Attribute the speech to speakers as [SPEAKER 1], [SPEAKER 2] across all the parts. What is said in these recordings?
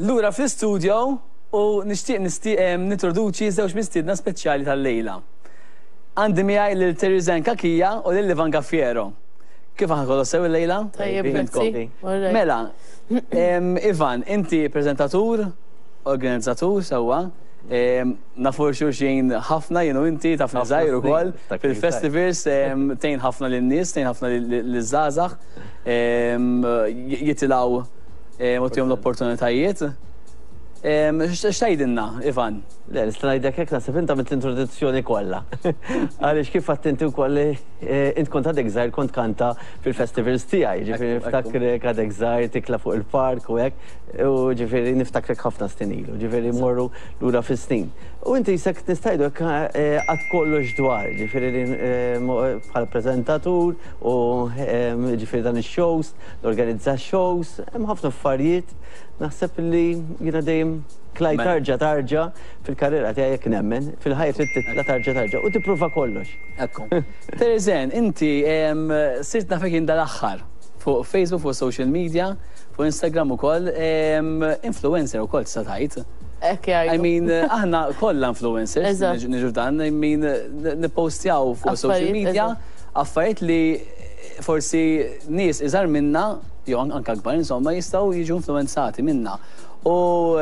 [SPEAKER 1] Lura fl-istudio u nixtieq nintroduċi żewġ mistiedna speċjali tal-lejla. Għandi miegħi lil Teresanne Cachia u lil Ivan Gaffiero. Kif aħna kollox sew illejla?
[SPEAKER 2] Tajjeb, grazzi.
[SPEAKER 1] Mela, Ivan, inti preżentatur, organizzatur sewwa, nafu xulxin ħafna jien u inti taf żgħir ukoll fil-festivals tgħin ħafna lin-nies, tgħin ħafna liż-żgħażagħ jitilgħu u tihom l-opportunitajiet. X'tgħidilna, Ivan?
[SPEAKER 3] Le, nista' ngħidlek hekk naħseb int għamilt l-introduzzjoni kollha. Għaliex kif għedt inti wkoll int kont għadek żgħir kont kanta fil-festivals tiegħi, ġifieri niftakrek għadek żgħir tikla fuq il-park u hekk, u ġifieri niftakrek ħafna snin ilu, ġifieri mmorru lura fis-snin. U inti jisek nista' ngħidu hekk għad kollox dwar, ġifieri bħala preżentatur u ġifieri dan ix-shows, organizza shows, hemm ħafna affarijiet, naħseb li jiena dejjem tlajt tarġa tarġa fil-karriera tiegħi jekk nemmen, fil-ħajja trid titla' tarġa tarġa u tipprova kollox.
[SPEAKER 1] Ekku. Teresanne, inti sirt nafek jien dal-aħħar fuq Facebook, fuq social media, fuq Instagram ukoll, influencer ukoll tista' tgħid.
[SPEAKER 2] Hekk jgħidu.
[SPEAKER 1] I mean, aħna kollha influencers, niġu f'dan, I mean, nippostjaw fuq social media affarijiet li forsi nies iżgħar minna, jew anke akbar insomma, jistgħu jiġu influenzati minna. U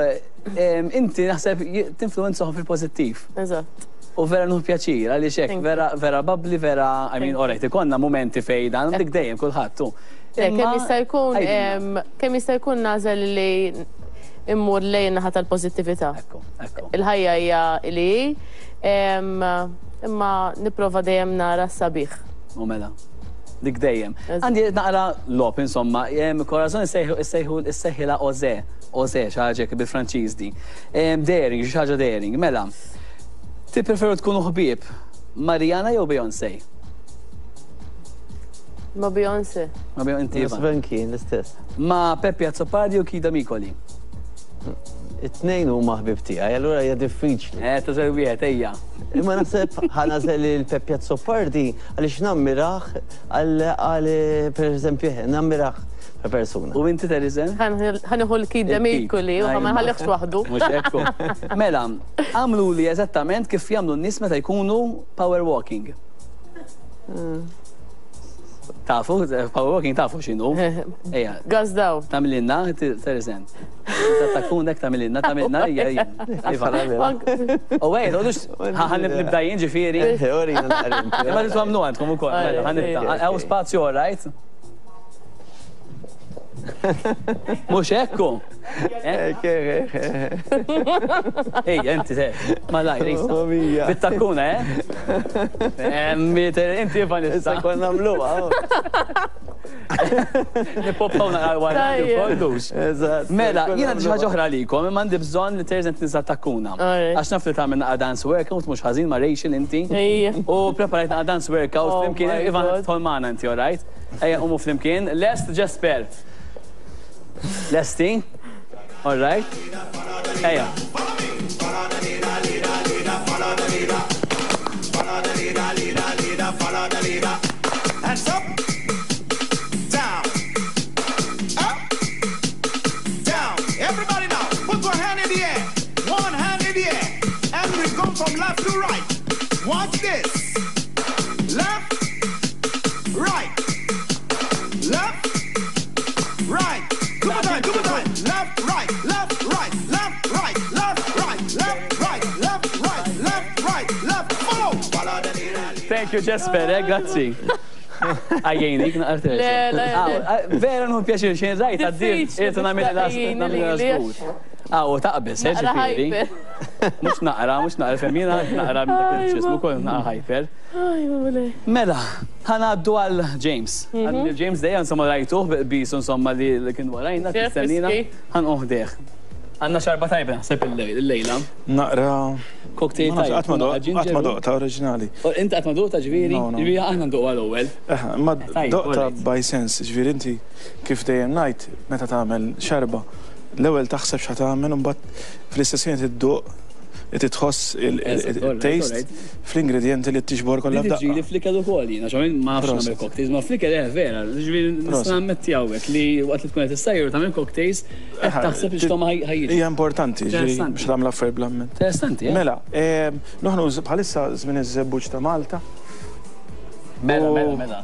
[SPEAKER 1] inti naħseb tinfluenzahom fil-pożittiv.
[SPEAKER 2] Eżatt.
[SPEAKER 1] U vera nieħu pjaċir, għaliex hekk, vera, vera bubbly, vera, I mean, alright, ikollna momenti fejn dan, dik dejjem kulħadd.
[SPEAKER 2] Kemm jista' jkun, kemm jista' jkun nagħżel li immur lejn naħa tal-pożittività. Il-ħajja hija li hi, imma nipprova dejjem nara s-sabiħ.
[SPEAKER 1] U mela. Dik dejjem. Għandi naqra logħob insomma, Corazon issejħu issejħilha Oze, Oze xi ħaġa hekk bil-Franċiż di. Daring, xi ħaġa daring. Mela, tippreferu tkunu ħbieb ma' Rihanna jew Beyoncé?
[SPEAKER 2] Ma' Beyoncé.
[SPEAKER 1] Ma' Beyoncé, inti.
[SPEAKER 3] Naħseb anki jien l-istess.
[SPEAKER 1] Ma' Peppi Azzopardi u Kida Mikoli?
[SPEAKER 3] It-tnejn huma ħbieb tiegħi, allura hija diffiċli.
[SPEAKER 1] Eh, tużel wieħed, ejja.
[SPEAKER 3] Imma naħseb ħa nagħżel lil Peppi Azzopardi għaliex nammirah għal pereżempju nammirah ta' persuna.
[SPEAKER 1] U inti Teresanne?
[SPEAKER 2] Ħa nieħu l-Kid Demikuli u ma nħallihx waħdu.
[SPEAKER 1] Mhux hekk hu. Mela, għamluli eżattament kif jagħmlu n-nies meta jkunu power walking. Tafu, power walking tafu x'inhu. Ejja.
[SPEAKER 2] Gas down.
[SPEAKER 1] Tagħmililna, Teresanne. Takkunek tagħmililna, tagħmilna, ejja, ejja. U ej, toqgħodux ħa nibda jien ġifieri. Imma tridu tagħmlu għandkom ukoll. Mela, ħa nibda. Hawn spazju all right? Mhux hekk hu. Ejja, inti te. Malajr, issa. Bit-takkuna, eh? Inti Ivan issa.
[SPEAKER 3] Issa konna nagħmluha.
[SPEAKER 1] Nippoppaw naqra wara kollux.
[SPEAKER 3] Eżatt.
[SPEAKER 1] Mela, jiena għandi xi ħaġa oħra għalikom, imma għandi bżonn li Teresanne tniżżel takkuna. Għax naf li tagħmel naqra dance workout mhux ħażin ma' Rachel inti. U preparajt naqra dance workout flimkien, Ivan tidħol magħna inti, all right? Ejja nqumu flimkien. Lest Jesper. Lesti? All right? Ejja.
[SPEAKER 4] Hands up, down, up, down. Everybody now, put one hand in the air, one hand in the air, and we go from left to right. Watch this. Left, right, left, right. Two more time, two more time. Left, right, left, right, left, right, left, right, left, right, left, right, left, right, left. Follow. Follow the leader.
[SPEAKER 1] Thank you, Jesper, eh, grazzi. Għajjenik, naqra
[SPEAKER 2] Le, le, le.
[SPEAKER 1] Vera nieħu pjaċir xejn rajt għaddir,
[SPEAKER 2] Diffiċli
[SPEAKER 1] irrid nagħmel
[SPEAKER 2] tagħjini
[SPEAKER 1] nagħmel
[SPEAKER 2] lili.
[SPEAKER 1] żgur. Ah, u taqbes, eh,
[SPEAKER 2] Naqra
[SPEAKER 1] ġifieri.
[SPEAKER 2] hyper.
[SPEAKER 1] Mhux naqra, mhux naqra, fem jiena naqra minn dak il-ġismu kol naqra hyper.
[SPEAKER 2] Aj, mulej.
[SPEAKER 1] Mela, ħa ngħaddu għal James. Għal James dejjem insomma rajtuh bisu insomma li li kien warajna,
[SPEAKER 2] Chef
[SPEAKER 1] tistennina.
[SPEAKER 2] whisky.
[SPEAKER 1] Ħa nqum ħdejh. Għandna xarba tajba naħseb illejla.
[SPEAKER 5] Naqra.
[SPEAKER 1] Cocktail
[SPEAKER 5] Ma nafx,
[SPEAKER 1] tajba.
[SPEAKER 5] qatt ma doq- qatt ma doqta oriġinali.
[SPEAKER 1] Inti qatt ma doqta ġifieri?
[SPEAKER 5] No, no.
[SPEAKER 1] Ġifieri aħna nduqha l-ewwel.
[SPEAKER 5] Eh, Ma
[SPEAKER 1] Tajjeb,
[SPEAKER 5] doqta
[SPEAKER 1] alright.
[SPEAKER 5] by sense, ġifieri inti kif dejjem ngħid meta tagħmel xarba, l-ewwel taħseb x'ħa tagħmel u mbagħad fl-istess ħin tidduq. Inti tħoss il-taste fl-ingredjenti li tiġbor kollha f'daqqa.
[SPEAKER 1] Tiġili fl-ikel ukoll jiena, għax ma nafx nagħmel cocktails, ma fl-ikel eh vera, ġifieri nista' nammetti hawnhekk li waqt li tkun qed issajjar u tagħmel cocktails, qed taħseb li x'togħma ħa jiġi.
[SPEAKER 5] Hija importanti, ġifieri biex tagħmel affarijiet bl-amment.
[SPEAKER 1] Interessanti, eh?
[SPEAKER 5] Mela, noħnu bħalissa żmien iż-żebbuġ ta' Malta.
[SPEAKER 1] Mela, mela, mela.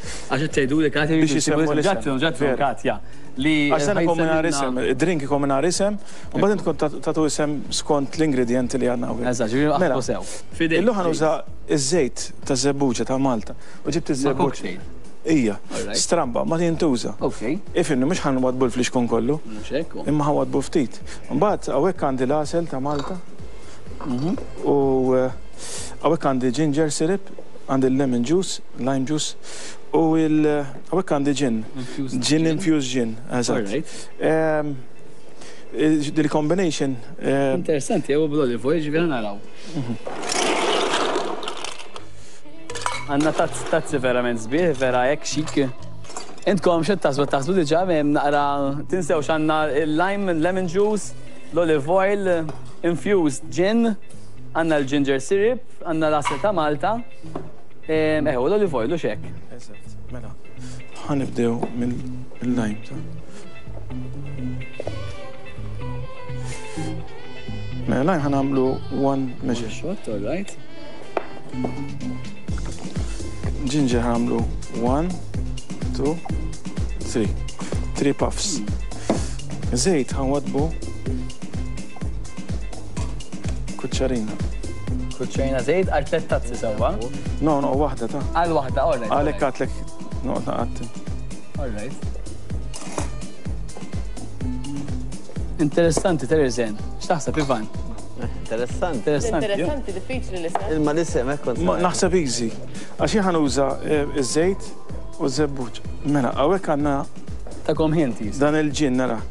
[SPEAKER 1] Għax qed tgħiduli Katja
[SPEAKER 5] biex jisemmu
[SPEAKER 1] l-isem. Ġatru, Katja. Li
[SPEAKER 5] Għax dan ikun mingħajr isem, id-drink ikun mingħajr isem, u mbagħad intkom tagħtu isem skont l-ingredjenti li għandna hawnhekk.
[SPEAKER 1] Eżatt, ġifieri
[SPEAKER 5] mela,
[SPEAKER 1] aħbu sew.
[SPEAKER 5] Illum ħa nuża ż-żejt taż-żebbuġa ta' Malta. U ġibt iż-żebbuġ. Ija, stramba, ma jintuża. Ifhimni, mhux ħa nwaddbu l-flixkun kollu. Imma ħa nwaddbu ftit. Mbagħad hawnhekk għandi l-għasel ta' Malta. Mhm. U eh, hawnhekk għandi ginger syrup, għandi l-lemon juice, lime juice, u il hawnhekk għandi gin. Gin infused gin, eżatt. Ehm, Dil-combination.
[SPEAKER 1] Eh, Interessanti, jew bl-olive oil, ġifieri naraw. Mhm. Għanna tazzi verament sbieħ, vera hekk xik. Intkom xed taħsbu taħsbu diġà hemm naqra tinsewx għandna il-lime, lemon juice, l-olive oil, infused gin, għandna l-ginger syrup, għandna l-għasel ta' Malta. Eh, u l-olive oil u xek.
[SPEAKER 5] Eżatt, mela. Ħanibdew mill-lime ta' Mela lime ħanamlu one measure.
[SPEAKER 1] Shot, all right.
[SPEAKER 5] Ginger ħanamlu one, two, three. Three puffs. Zejt ħanwadbu kuċċarina.
[SPEAKER 1] Kuċċarina zejt għal tlet tazzi sewwa?
[SPEAKER 5] No, no, waħda ta'
[SPEAKER 1] Għal waħda, all right.
[SPEAKER 5] Għalhekk għadtlek noqgħod naqatti.
[SPEAKER 1] All right. Interessanti, Terezen. X'taħseb, Ivan?
[SPEAKER 3] Interessanti.
[SPEAKER 1] Interessanti.
[SPEAKER 2] Interessanti, diffiċli l-isem.
[SPEAKER 3] Imma l-isem hekk kont.
[SPEAKER 5] Naħseb easy. Għax jien ħanuża eh, iż-żejt u ż-żebbuġ. Mela, hawnhekk għandna
[SPEAKER 1] Takom ħinti.
[SPEAKER 5] Dan il-ġin nara.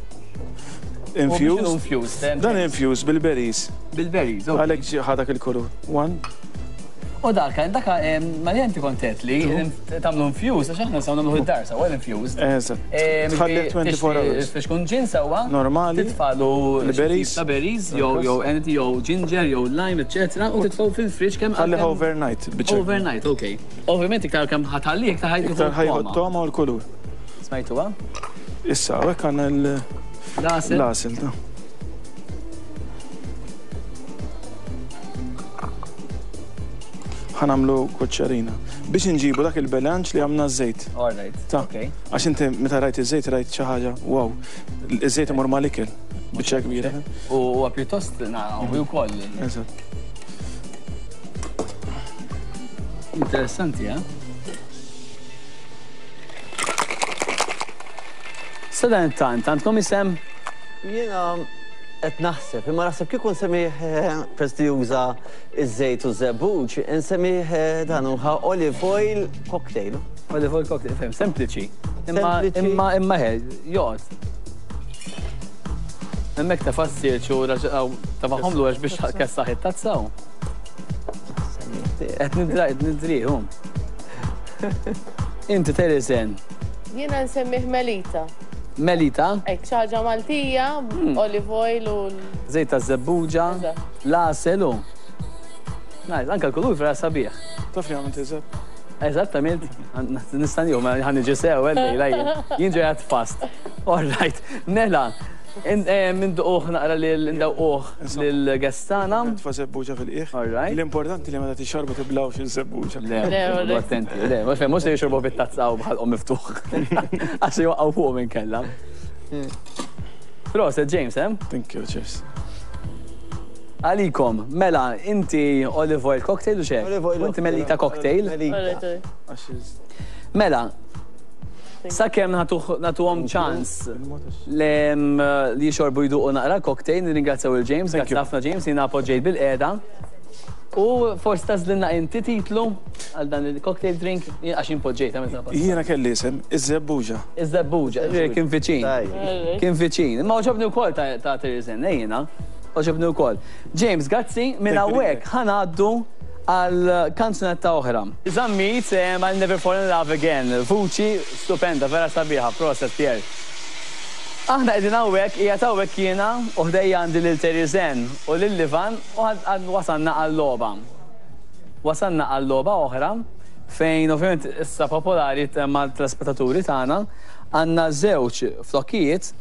[SPEAKER 5] Infused.
[SPEAKER 1] Infused. Eh,
[SPEAKER 5] Dan infused bil-berries.
[SPEAKER 1] Bil-berries,
[SPEAKER 5] ok. Għalhekk ħa dak il-kulur. One.
[SPEAKER 1] U dak, dak ma li inti kontet li tagħmlu infused, għax aħna nistgħu nagħmlu id-dar sewwa l-infused.
[SPEAKER 5] Eżatt. Tħalli 24 hours.
[SPEAKER 1] Biex kun ġin sewwa.
[SPEAKER 5] Normali.
[SPEAKER 1] Titfalu
[SPEAKER 5] l-berries.
[SPEAKER 1] Ta' berries, jew jew anything, jew ginger, jew lime, eċetera, u titfgħu fil-fridge kemm.
[SPEAKER 5] Ħalli overnight.
[SPEAKER 1] Overnight, ok. Ovvjament iktar kemm ħatħalli iktar ħajħu.
[SPEAKER 5] Iktar ħajħu toma u l-kulur.
[SPEAKER 1] Smajtuha?
[SPEAKER 5] Issa, hawnhekk għandna l-
[SPEAKER 1] L-għasel.
[SPEAKER 5] L-għasel, ta. Ħa nagħmlu kuċċarina. Biex inġibu dak il-bilanċ li għamna ż-żejt.
[SPEAKER 1] All right.
[SPEAKER 5] Ta.
[SPEAKER 1] Okay.
[SPEAKER 5] Għax inti meta rajt iż-żejt rajt xi ħaġa, wow. Iż-żejt imur mal-ikel. Biċċa kbira.
[SPEAKER 1] U huwa pjuttost naqgħu wkoll.
[SPEAKER 5] Eżatt.
[SPEAKER 1] Interessanti, eh? Sadanittant, għandkom isem?
[SPEAKER 3] Jiena qed naħseb, imma naħseb kieku nsemmih eh, peress li juża iż-żejt u ż-żebbuġ, insemmih eh, dan huwa olive oil cocktail.
[SPEAKER 1] Olive oil cocktail, fem, sempliċi. Imma imma imma ħe, joqgħod. Hemmhekk ta' fassirċu tafaħomlu għax biex kessaħ it-tazza. Qed nidrihom. Inti Teresen.
[SPEAKER 2] Jiena nsemmih Melita.
[SPEAKER 1] Melita?
[SPEAKER 2] Hekk, xi ħaġa Maltija, olive oil u.
[SPEAKER 1] Żejt taż-żebbuġa, l-għasel u. Nice, anke l-kulur vera sabiħ.
[SPEAKER 5] Taf li għamilt eżatt?
[SPEAKER 1] Eżatt għamilt, nista' nieħu, ma ħa niġi sew, lejla jien. Jien ġejja fast. All right, mela, Induquh naqra lil indewquh lill-guests tagħna.
[SPEAKER 5] Tfa' żebbuġa fil-qiegħ.
[SPEAKER 1] All right.
[SPEAKER 5] L-importanti li meta tixorbu tiblgħux iż-żebbuġa.
[SPEAKER 1] Le, noqogħdu attenti. Le, mhux mhux se jixorbu bit-tazza u b'ħalqhom miftuħ. Għax se jwaqgħu fuqhom inkella. Proset James, eh?
[SPEAKER 5] Thank you, cheers.
[SPEAKER 1] Għalikom, mela, inti olive oil cocktail u xek?
[SPEAKER 3] Olive oil.
[SPEAKER 1] Inti melita cocktail.
[SPEAKER 3] Melita.
[SPEAKER 1] Mela, Sakemm nagħtuhom ċans li jixorbu jduqu naqra cocktail, nirringrazzjaw lil James, grazzi ħafna James, jiena poġġejt bilqiegħda. U forsi tagħżlilna inti titlu għal dan il-cocktail drink, għax jien poġġejt għamilt ta'
[SPEAKER 5] Jiena kelli isem, iż-żebbuġa.
[SPEAKER 1] Iż-żebbuġa, kien viċin. Kien viċin. Imma għoġobni wkoll ta' Therese Anne, jiena. Għoġobni wkoll. James, grazzi, minn hawnhekk ħa ngħaddu għal kanzunetta oħra. Zammit, I'll never fall in love again. Vuċi stupenda, vera sabiħa, proset Pierre. Aħna qegħdin hawnhekk, qiegħed hawnhekk jiena u ħdejja għandi lil Terizen u lil Ivan u wasalna għal-logħba. Wasalna għal logħba oħra fejn ovvjament issa popolari mat-telespettaturi tagħna għandna żewġ flokkijiet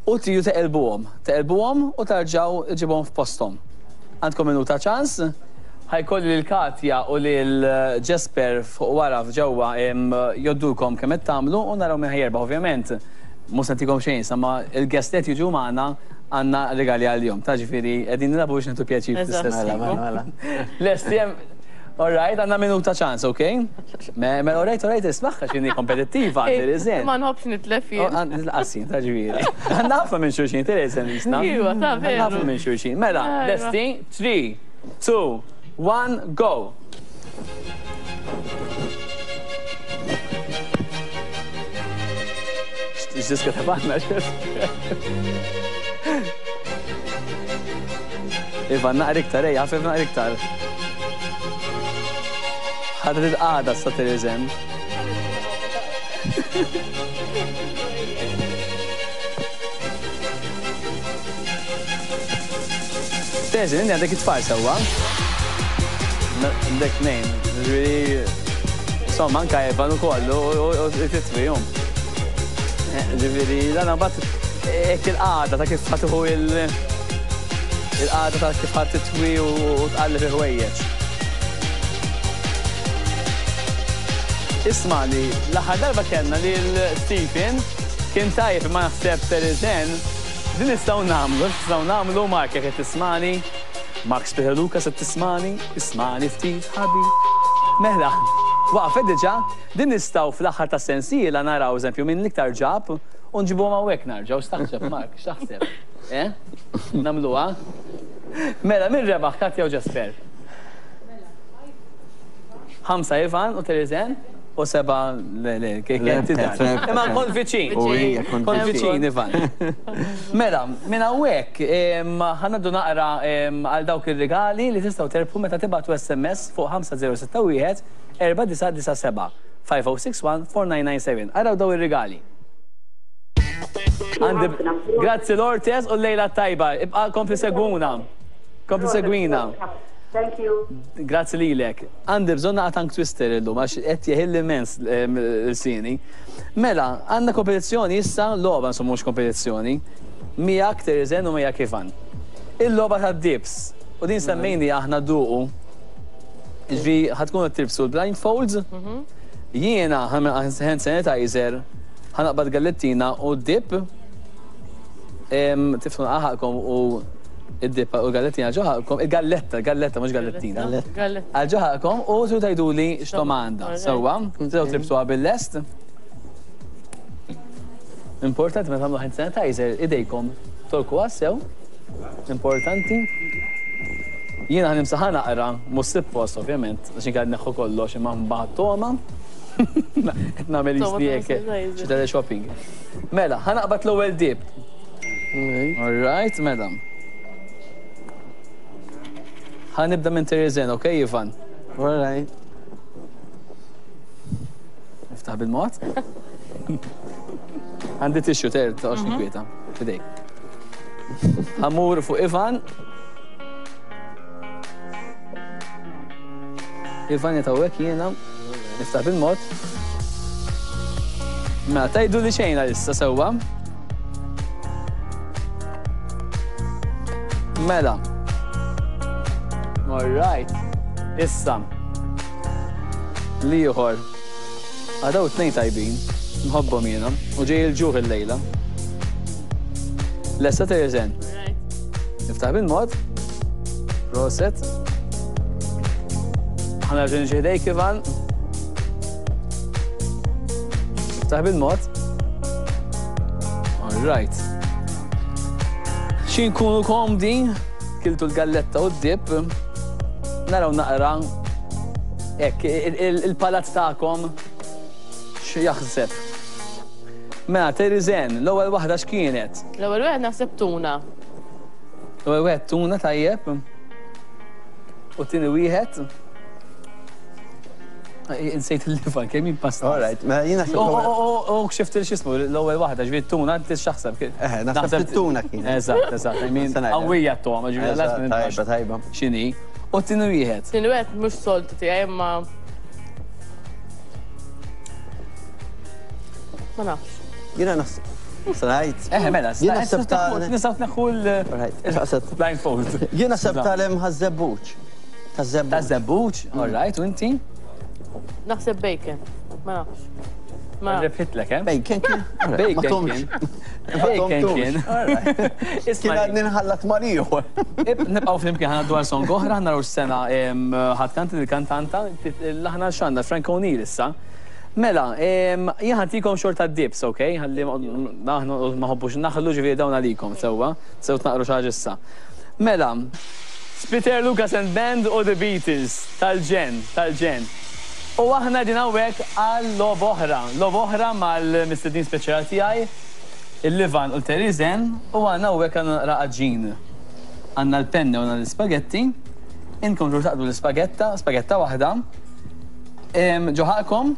[SPEAKER 1] u tridu teqilbuhom. Teqilbuhom u tarġgħu ġġibuhom f'posthom. Għandkom minuta ċans. Ħa jkolli lil Katja u lil Jesper fuq wara f'ġewwa jgħoddulkom kemm qed tagħmlu u naraw min ħa jerbaħ. Ovvjament mhux se ntikom xejn issa ma il-guests li qed jiġu magħna għandna rigali għalihom. Ta' ġifieri qegħdin nilagħbu biex nieħdu pjaċir fl-istess ħin.
[SPEAKER 3] Mela, mela.
[SPEAKER 1] Lesti hemm All right, għandna minuta ċans, ok? Mela, all right, all right, ismagħha x'inhi kompetittiva, Tereżen.
[SPEAKER 2] Ma nħobbx nitlef jien.
[SPEAKER 1] Lanqas jien, ta' ġifieri. Għandna ħafna minn xulxin, Tereżen jisna.
[SPEAKER 2] Iva, ta' veru.
[SPEAKER 1] Għandna ħafna minn xulxin. Mela, lesti, 3, 2, 1, go! X'diska ta' banda, Iva, naqra iktar, ejja, ħafif naqra iktar. Ħadet il-qagħda sa Tereżen. Tereżen, inti għandek it-tfal sewwa? Għandek tnejn, ġifieri insomma anka Evan ukoll u titwihom. Ġifieri dan mbagħad hekk il-qagħda ta' kif ħa tieħu il- il-qagħda ta' kif ħa titwi u tqalleb il-ħwejjeġ. Ismagħni, l-aħħar darba kellna lil Stephen kien tajjeb imma naħseb Tereżen din nistgħu nagħmlu, nistgħu nagħmlu Mark jekk qed tismagħni, Mark Spiteri Lucas qed tismagħni, ismagħni ftit ħabib. Mela, waqfet diġà, din nistgħu fl-aħħar tas-sensiela naraw eżempju min l-iktar ġab u nġibuhom hawnhekk narġgħu, x'taħseb Mark, x'taħseb? Eh? Nagħmluha? Mela, min rebaħ Katja u Jesper? Ħamsa Ivan u Tereżen u seba' le le Imma kont viċin. Kont viċin Ivan. Mela, minn hawnhekk ħa ngħaddu naqra għal dawk ir-rigali li tistgħu terbħu meta tibagħtu SMS fuq 5061 4997 5061 4997. Araw daw ir-rigali. Grazzi Lortes u l-lejla t-tajba. Ibqa' kompli segwuna. Kompli segwina.
[SPEAKER 6] Thank you.
[SPEAKER 1] Grazzi lilek. Għandi bżonn naqa' tongue twister illum għax qed jeħilli immens lsieni. Mela, għandna kompetizzjoni issa, logħba insomma mhux kompetizzjoni, miegħek Tereżen u miegħek Ivan. Il-logħba tad-dips. U din semmejni aħna duqu. Ġifieri ħa tkunu qed tilbsu l-blindfolds. Jiena ħa hand sanitizer, ħa naqbad gallettina u dip. Tifnu ħaqkom u id-dip u l-gallettina ġo ħalqkom, il-galletta, il-galletta mhux gallettina. Għal ġo ħalqkom u tridu tgħiduli x'togħma għandha. Sewwa, tridu tilbsuha bil-lest. Importanti meta tagħmlu hand sanitizer idejkom tolkuha sew. Importanti. Jiena ħa nimsaħha naqra, mhux suppost ovvjament, għax inkella neħħu kollox imma mbagħad togħma. Qed nagħmel jisni hekk xi teleshopping. Mela, ħa naqbad l-ewwel dip. All right, mela. Ħa nibda minn Terezen, ok, Ivan?
[SPEAKER 3] All right.
[SPEAKER 1] Niftaħ bil-mod. Għandi tissue ter, toqgħodx mhm. ninkwieta. Fidejk. Ħamur fuq Ivan. Ivan jitawek jiena. Niftaħ bil-mod. Mela, tajdu li xejn għalissa sewwa. Mela. All right. Issa. Liħor. Għadaw tnejn tajbin. Nħobbhom jiena. U ġej il-ġuħ il-lejla. Lesta Terezen. Niftaħ bil-mod. Proset. Ħa nerġa' niġi ħdejk Ivan. Niftaħ bil-mod. All right. Xi nkunu komdi, kiltu l-galletta u d-dip, naraw naqra hekk il-palat tagħkom x'jaħseb. Mela, Terizen, l-ewwel waħda x'kienet?
[SPEAKER 2] L-ewwel wieħed naħseb tuna.
[SPEAKER 1] L-ewwel wieħed tuna tajjeb. U t-tieni wieħed? Insejt il-liva, kemm pasta.
[SPEAKER 3] All right, mela jien naħseb.
[SPEAKER 1] U kxift il-xismu, l-ewwel waħda, ġifieri tuna, inti x'taħseb?
[SPEAKER 3] Eh, naħseb tuna kien.
[SPEAKER 1] Eżatt, eżatt, I mean, qawwija t-toma, ġifieri
[SPEAKER 3] l Tajba, tajba.
[SPEAKER 1] X'inhi? U t-tieni wieħed.
[SPEAKER 2] Tieni wieħed mhux soltu tiegħi imma Ma nafx.
[SPEAKER 3] Jiena naħseb. Srajt.
[SPEAKER 1] Eh, mela, jien naħseb ta' nistgħu tneħħu l-blindfold.
[SPEAKER 3] Jien naħseb tal-hemm ħaż-żebbuġ.
[SPEAKER 1] Taż-żebbuġ. Taż-żebbuġ, all right, u inti?
[SPEAKER 2] Naħseb bacon. Ma nafx.
[SPEAKER 1] Ma Rebħitlek, eh?
[SPEAKER 3] Bacon kien.
[SPEAKER 1] Bacon kien. Bacon kien.
[SPEAKER 3] Kien għadni nħallat ma' ieħor.
[SPEAKER 1] Nibqgħu flimkien ħana dwar song oħra, naraw x'sena ħadd kanti il-kantanta, l-aħna x'għandna Frank O'Neill issa. Mela, jien ħantikom xorta dips, ok? Ħalli aħna ma ħobbux naħlu ġifieri dawn għalikom sewwa, sew tnaqru xi ħaġa issa. Mela, Peter Lucas and Band u The Beatles, tal-ġenn, tal-ġenn. U aħna qegħdin hawnhekk għal logħba oħra, logħba oħra mal-mistednin speċjali tiegħi, il-Livan u l-Terizen, u għandna hawnhekk għandna naqra għaġin. Għandna l-penne u għandna l-ispagetti. Intkom tridu taqdu l-ispagetta, spagetta waħda, ġo ħalqkom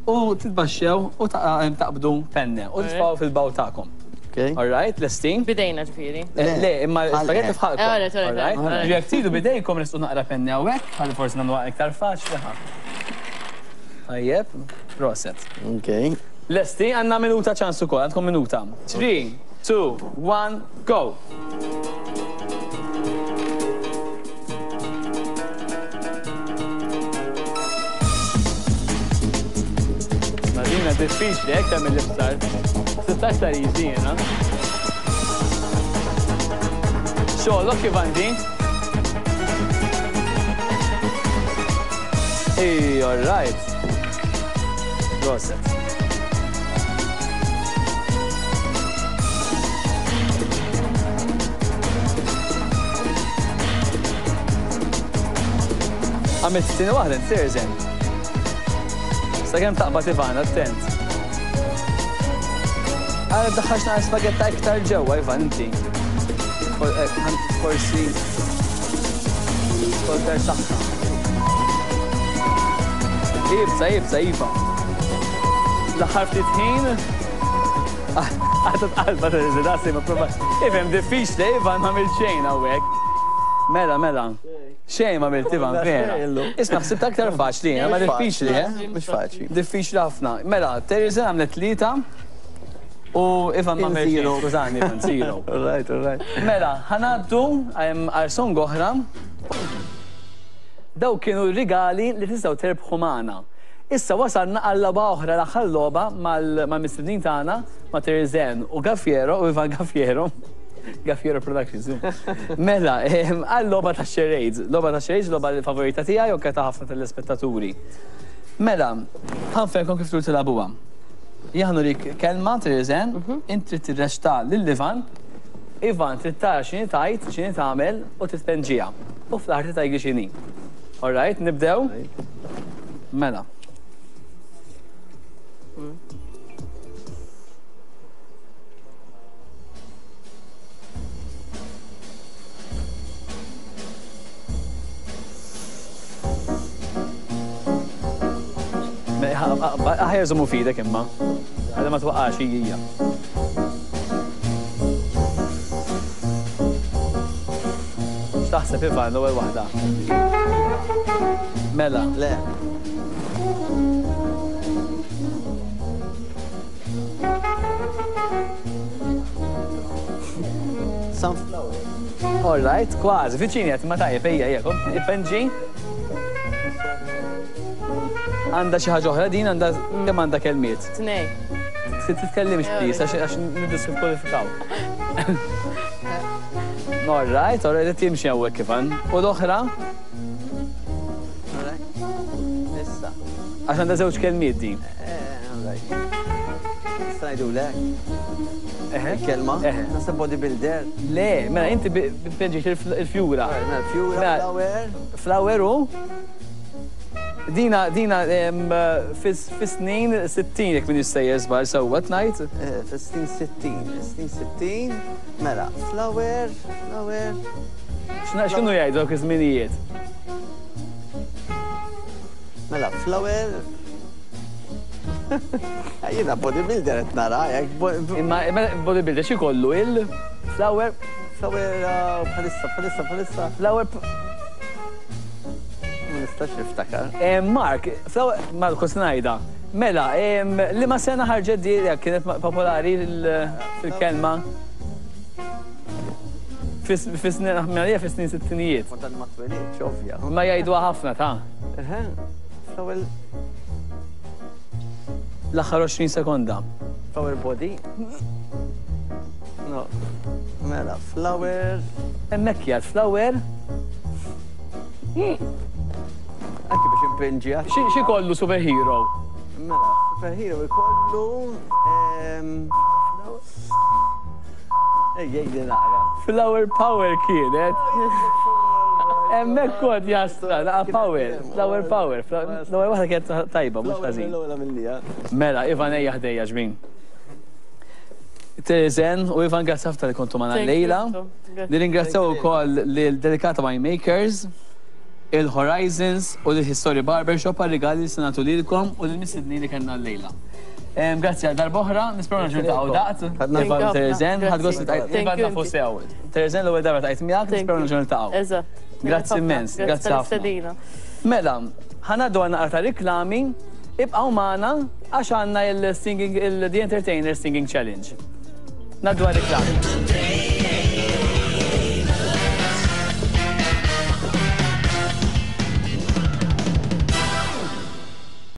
[SPEAKER 1] u titbaxxew u taqbdu penne u titfgħu fil-bawl tagħkom. All right, lesti?
[SPEAKER 2] Bidejna ġifieri.
[SPEAKER 1] Eh, le, imma l-spaghetti f'ħalkom. Eh, all right. Jekk tridu bidejkom nistgħu naqra penni hawnhekk, ħalli forsi nagħmluha iktar faċli. Tajjeb, proset.
[SPEAKER 3] Ok.
[SPEAKER 1] Lesti, għandna minuta ċans ukoll, għandkom minuta. 3, 2, 1, go! Madina diffiċli hekk tagħmel l-iftar. Sibta aktar easy jiena. Xogħlok kif għandi? Ej, all right. Proset. Għamilt t-tieni waħda, serzen. Sakemm taqbad Ivan, attent. Għara daħħax naqra spagetta iktar ġewwa, Ivan, inti. Eh, forsi Kolter saħħa. Ibsa, ibsa, iva. L-aħħar ftit ħin. Għatat qalba ta' dasi ma prova. Ifhem diffiċli, Ivan ma għamilt xejn hawnhekk. Mela, mela. Xejn ma għamilt Ivan, vera. Isma' ħsibt aktar faċli, ma diffiċli, eh?
[SPEAKER 3] Mhux faċli.
[SPEAKER 1] Diffiċli ħafna. Mela, Teresa għamlet tlieta. U Ivan ma għamel xejn, skużani, Ivan, zero.
[SPEAKER 3] All right, all right.
[SPEAKER 1] Mela, ħanaddu għal song oħra. Daw kienu rigali li tistgħu terbħu magħna. Issa wasalna għal logħba oħra l-aħħar logħba mal-mistednin tagħna ma' Terezen u Gaffiero u Ivan Gaffiero. Gaffiero Productions. Mela, għal logħba ta' charades. Logħba ta' charades, logħba favorita tiegħi u ta' ħafna telespettaturi. Mela, ħanfehmkom kif tridu tilagħbuha. Jien ħa nurik kelma, Terezen, int trid tirreċta lil Ivan, Ivan trid tara x'inhi tgħid, x'inhi tagħmel u trid tpenġiha. U fl-aħħar trid tgħidli x'inhi. All right, nibdew? Mela. Aħjar żommu f'idek imma. Għadha ma twaqqax hija. X'taħseb Ivan l-ewwel waħda? Mela.
[SPEAKER 3] Le. Sunflower.
[SPEAKER 1] All right, kważi, viċini qed ma tajjeb ejja ejja, ippenġi. Għandha xi ħaġa oħra din għandha kemm għandha kelmiet?
[SPEAKER 2] Tnej.
[SPEAKER 1] Titkellimx please għax għax niddiskwalifikaw. All right, all right, qed jimxi hawnhekk Ivan. U l-oħra?
[SPEAKER 3] Issa.
[SPEAKER 1] Għax għandha żewġ kelmiet din.
[SPEAKER 3] Nista' ngħidulek. Kelma? Naħseb bodybuilder.
[SPEAKER 1] Le, mela inti pinġiet il-fjura.
[SPEAKER 3] Mela fjura, mela, flower.
[SPEAKER 1] Flower u? Dina, dina, fis-snin 60 jekk min jissejjer żball sewwa tnajt.
[SPEAKER 3] Eh, fis-snin 60, snin 60, mela, flower, flower.
[SPEAKER 1] X'inhu jgħidu dawk iż-żminijiet?
[SPEAKER 3] Mela, flower. Jiena bodybuilder qed nara, hekk.
[SPEAKER 1] Imma bodybuilder xi kollu il-flower?
[SPEAKER 3] Flower uh, bħalissa, bħalissa, bħalissa.
[SPEAKER 1] Flower
[SPEAKER 3] Ma nistax niftakar.
[SPEAKER 1] Eh, Mark, flower, ma kont ngħidha. Mela, li ma sena ħarġet di kienet popolari il-kelma? Fis-snin, għalija fis-snin sittinijiet.
[SPEAKER 3] Ma dan ma twelidx, ovvja.
[SPEAKER 1] Ma jgħiduha ħafna ta'.
[SPEAKER 3] Eħe, flower.
[SPEAKER 1] L-aħħar 20 sekonda.
[SPEAKER 3] Flower body. No. Mela, flower.
[SPEAKER 1] Hemmhekk jgħid flower.
[SPEAKER 3] Anki biex impinġi.
[SPEAKER 1] Xi kollu superhero?
[SPEAKER 3] Mela, superhero ikollu. Ej, ej, naqra.
[SPEAKER 1] Flower power kienet. Hemmhekk kont jastra, naqa power, flower power. L-ewwel waħda kienet tajba, mhux ħażin. Mela, Ivan ejja ħdejja ġmin. Terezen u Ivan grazzi ħafna li kontu magħna llejla. Nirringrazzjaw ukoll lil Delicata Winemakers, il-Horizons u lil History Barbershop għar-rigali li se nagħtu lilkom u lill-mistednin li kellna llejla. Grazzi għal darb'oħra, nisperaw nerġgħu niltaqgħu daqt. Ivan u Terezen, ħadt gost li tqajt Ivan nafu sew. Terezen l-ewwel darba tqajt miegħek, nisperaw nerġgħu niltaqgħu.
[SPEAKER 2] Eżatt.
[SPEAKER 1] Grazzi immens, grazzi ħafna. Mela, ħa ngħaddu għal naqra ta' riklami, ibqgħu magħna għax għandna il-singing il-The Entertainer Singing Challenge. Ngħaddu għal riklami.